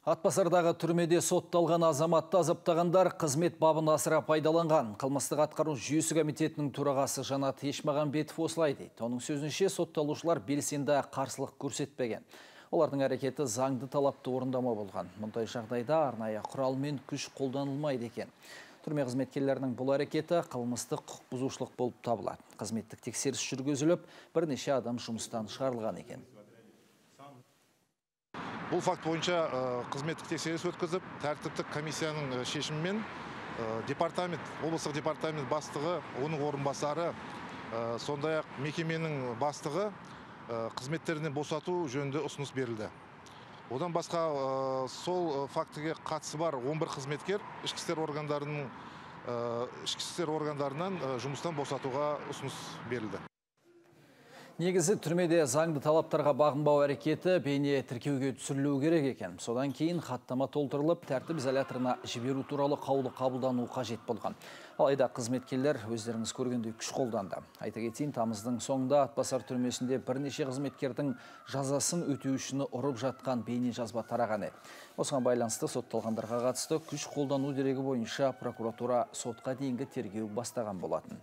Атбасардағы түрмеде сотталған азаматты азаптағандар қызмет бабын асыра пайдаланған. Қылмыстық атқару жүйесі комитетінің төрағасы Жанат Ешмағамбетов осылай дейді. Оның сөзінше сотталушылар белсенді қарсылық көрсетпеген. Олардың әрекеті заңды талапты орындама болған. Мұндай жағдайда арнайы құрал мен күш қолданылмайды екен. Түрме қызметкерлерінің бұл әрекеті қылмыстық құқық бұзушылық болып табылады. Қызметтік тексеріс жүргізіліп, бірнеше адам жұмыстан шығарылған екен. Бұл факт бойынша қызметтік тексеріс өткізіп, тәртіптік комиссияның шешімімен облыстық департамент бастығы, оның орынбасары, сондай-ақ мекеменің бастығы қызметтерінен босату жөнінде ұсыныс берілді. Одан басқа сол фактіге қатысы бар 11 қызметкер ішкі істер органдарынан жұмыстан босатуға ұсыныс берілді. Негізі түрмеде заңды талаптарға бағынбау әрекеті бейне тіркеуге түсірілуі керек екен. Содан кейін хаттама толтырылып, тәртіп изоляторына жіберу туралы қаулы қабылдану қажет болған. Алайда қызметкерлер өздеріңіз көргендей күш қолданды. Айта кетейін, тамыздың соңында Атбасар түрмесінде бірнеше қызметкердің жазасын өтеушіні ұрып жатқан бейне жазба тараған еді. Осыған байланысты сотталғандарға қатысты күш қолдану дерегі бойынша прокуратура сотқа дейінгі тергеу бастаған болатын.